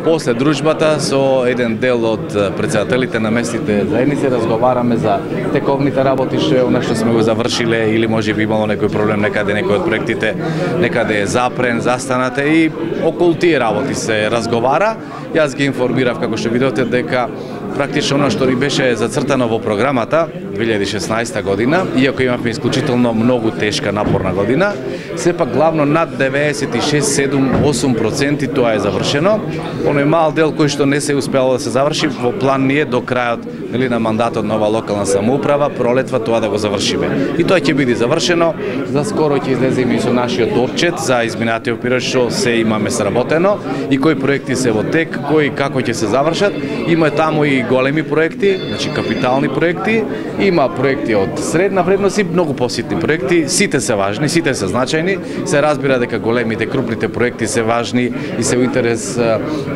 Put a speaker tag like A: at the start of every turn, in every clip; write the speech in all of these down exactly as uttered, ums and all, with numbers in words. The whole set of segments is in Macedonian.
A: После дружбата со еден дел од претседателите на местните заедници разговараме за тековните работи, што е она што сме го завршиле или може би имало некој проблем некаде, некој од проектите некаде е запрен, застанате и околу тие работи се разговара. Јас ги информирав, како што видовте, дека практично оно што ни беше зацртано во програмата две илјади и шеснаесета година, иако имавме исклучително многу тешка напорна година, сепак главно над деветдесет и шест, седум, осум проценти тоа е завршено. Оној мал дел кој што не се успело да се заврши, во план ние до крајот нели на мандатот на ова локална самоуправа, пролетва тоа да го завршиме. И тоа ќе биде завршено. За скоро ќе излеземе и со нашиот отчет за изминатиот период што се имаме сработено и кои проекти се во тек, кои како ќе се завршат. Има таму и големи проекти, значи капитални проекти, има проекти од средна вредност и многу поситни проекти. Сите се важни, сите се значајни. Се разбира дека големите, крупните проекти се важни и се во интерес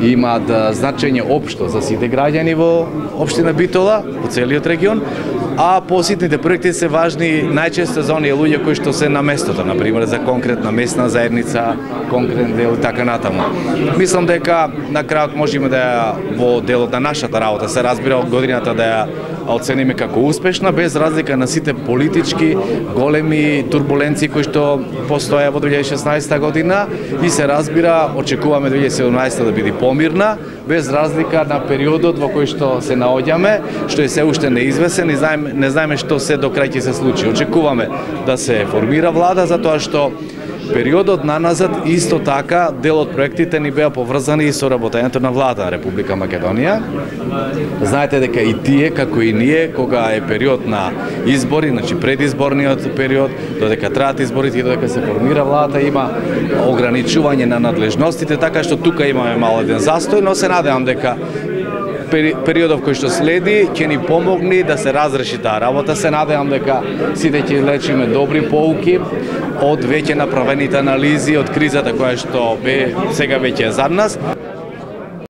A: и имаат значење општо за сите граѓани во општина Битола, во целиот регион, а поситните проекти се важни најчесто за оние луѓе кои што се на местото, на пример за конкретна местна заедница, конкретен дел и така натаму. Мислам дека на крајот можеме да во делот на нашата работа се разбира од годината да ја оцениме како успешна, без разлика на сите политички големи турбуленции кои што постоја во две илјади и шеснаесета година и се разбира очекуваме две илјади и седумнаесета да биде помирна, без разлика на периодот во кој што се наоѓаме, што е се уште неизвесен и знаеме, не знаеме што се до крај ќе се случи. Очекуваме да се формира влада затоа што периодот наназад исто така дел од проектите ни беа поврзани со работењето на влада на Република Македонија. Знаете дека и тие, како и ние, кога е период на избори, значи предизборниот период, додека траат изборите и додека се формира владата, има ограничување на надлежностите, така што тука имаме мал еден застој, но се надевам дека периодов кој што следи ќе ни помогне да се разреши таа работа. Се надевам дека сите ќе лечиме добри поуки од веќе направените анализи од кризата која што бе сега веќе е зад нас.